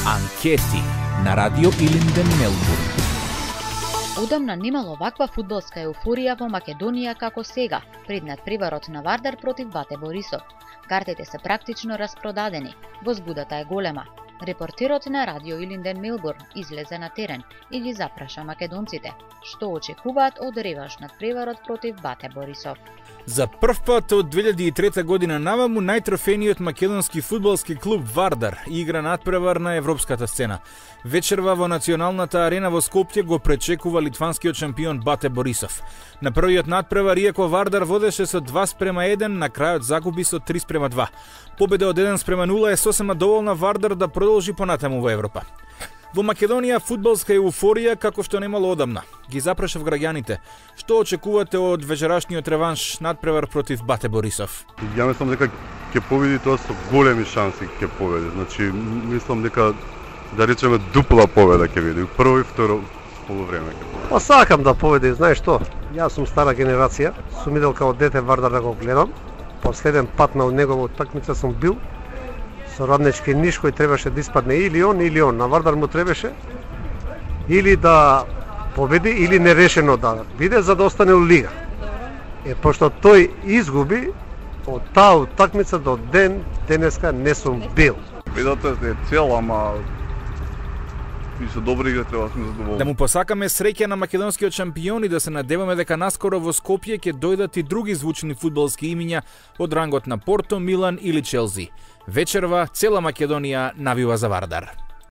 Анкети на Радио Илинден Мелбурн. Одамна немало ваква фудбалска еуфорија во Македонија како сега, пред надпреварот на Вардар против Бате Борисов. Картите се практично распродадени, возбудата е голема. Репортерот на Радио Илинден Мелбурн излезе на терен и ги запраша македонците, што очекуваат од реванш надпреварот против Бате Борисов. За прв пат од 2003 година наваму најтрофениот македонски фудбалски клуб Вардар игра надпревар на европската сцена. Вечерва во националната арена во Скопје го пречекува литванскиот шампион Бате Борисов. На првиот надпревар, иако Вардар водеше со 2:1, на крајот загуби со 3:2. Победа од 1:0 е сосема доволна Вардар да продолжи понатаму во Европа. Во Македонија фудбалска еуфорија како што немало одамна. Ги запрашав граѓаните. Што очекувате од вечерашниот реванш надпревар против Бате Борисов? Ја мислам дека ќе победи, тоа со големи шанси ќе победи. Значи, мислам дека да речеме дупла победа ќе биде, прво и второ полувреме ќе победи. Па сакам да победи, знаеш што? Јас сум стара генерација, сум идел као дете Вардар да го гледам. Последен пат на негова утакмица сум бил со Раднички Ниш, кој требаше да испадне или он. На Вардар му требаше или да победи, или нерешено да биде за да остане у лига. Пошто тој изгуби, од таа утакмица до денеска не сум бил. Победата е цел, ама и со добри игри треба да сме задоволни. Да му посакаме среќа на македонскиот шампион и да се надеваме дека наскоро во Скопје ќе дојдат и други звучни фудбалски имиња од рангот на Порто, Милан или Челси. Вечерва цела Македонија навива за Вардар.